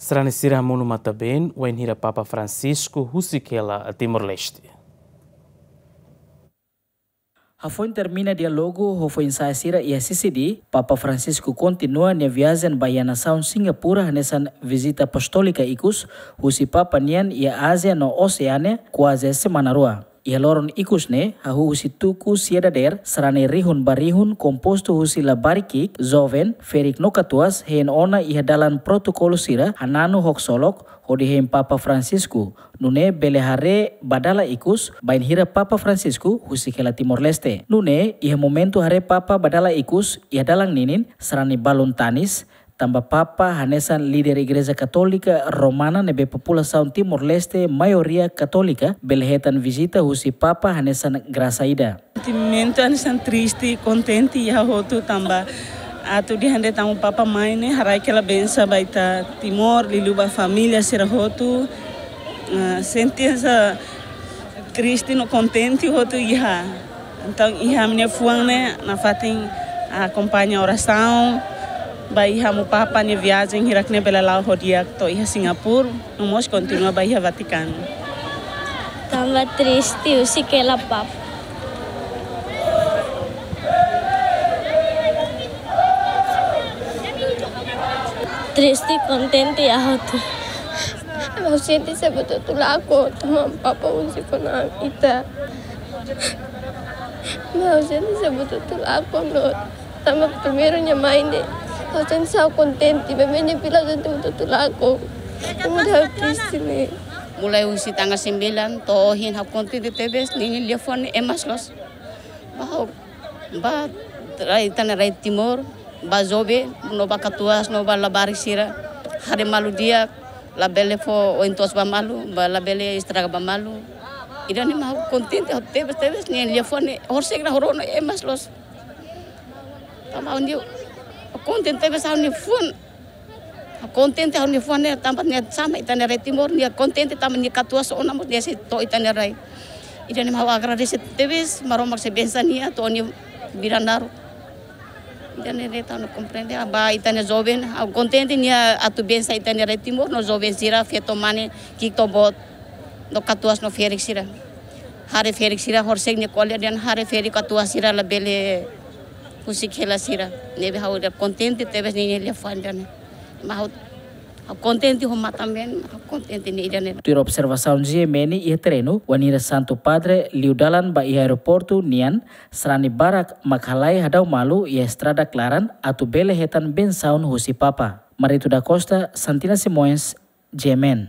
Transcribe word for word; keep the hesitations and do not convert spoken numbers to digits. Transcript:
Sarani sira monu matan-been wainhira Papa Francisco husik hela Timor-Leste. Hafoin termina diálogu ho foin-sa'e sira iha Sisidi, Papa Francisco kontinua nia viajen ba iha nasaun Singapura hanesan vizita apostólika ikus husi Papa nian iha Ázia no Oseánia kuaze semana rua. Iha loron ikus ne'e, hahú husi tuku sia dadeer, sarani rihun ba rihun kompostu husi labarik ki'ik, joven, ferik no katuas, hein ona iha dalan protokolu sira, hananu ho ksolok, hodi hein Papa Francisco. Nune'e bele haree ba dala ikus, bainhira Papa Francisco husik hela Timor-Leste. Nune'e, iha momentu haree Papa ba dala ikus, iha dalan ninin, sarani balun tanis, tanba Papa hanesan líder Igreja Katólika Romana ne'ebé populasaun Timor-Leste maioria katólika bele hetan vizita husi Papa hanesan grasa ida. Sentimentu hanesan triste, kontente iha hotu tanba atu dehan de'it Amu Papa mai ne'e haraik hela bensa ba ita Timor, liuliu ba família sira hotu. Ah, sente hanesan triste no kontente hotu iha. Entaun, iha ami-nia fuan ne'e nafatin akompaña orasaun ba iha Amu Papa nia viajen hirak ne'e bele la'o ho di'ak to'o iha Singapura, no mós kontinua ba iha Vatikanu. Tanba triste husik hela Papa. Triste, kontente iha hotu. Ha'u sente saida buat hotu lakon, tanba Papa husik ona ita. Ha'u sente saida buat hotu lakon no. Tanba primeiru nia mai ne'e, ha'u sente saida kontente, maibé nia fila sente buat hotu lakon. Tanba ha'u triste ne'e. Mulai husi tanggal sembilan to'o ohin ha'u kontente tebes, ninia liafuan ne'e ema loos. Ba ha'u, ba rai, ita-nia rai Timor, ba joven, no ba katuas, no ba labarik sira. Haree malu di'ak, labele fó oin toos ba malu, ba labele estraga ba malu. Ida-ne'e mak ha'u kontente, ha'u tebes, tebes, ninia liafuan ne'e, horisehik rona ema loos. Tanba ha'u-nia, kontente tebes ha'u-nia fuan. Kontente ha'u-nia fuan ne'e tanba nia sama ita-nia rai Timor, nia kontente tanba nia katuas ona mós nia sei to'o ita-nia rai. Ida-ne'e mak ha'u agradese tebes, Maromak sei bensa nia to'o nia vida naruk. Ida-ne'e de'it ha'u komprende, ba ita-nia joven, ha'u kontente nia atu bensa ita-nia rai Timor, no joven sira, feto mane, ki'ik to'o boot, no katuas no ferik sira. Haree ferik sira, horisehik nia ko'alia dehan haree ferik katuas sira labele husik hela sira. Ne'ebé ha'u ida kontente tebes ninia liafuan ida-ne'e. Mak ha'u, ha'u kontente ho matan-been, ha'u kontente nia ida-ne'e. Tuir observasaun G M N iha terrenu, wainhira Santu Padre liu dalan ba iha aeroportu nian, sarani barak mak halai hadau malu iha estrada klaran atu bele hetan bensaun husi Papa. Marito da Costa, Santina Simões, G M N.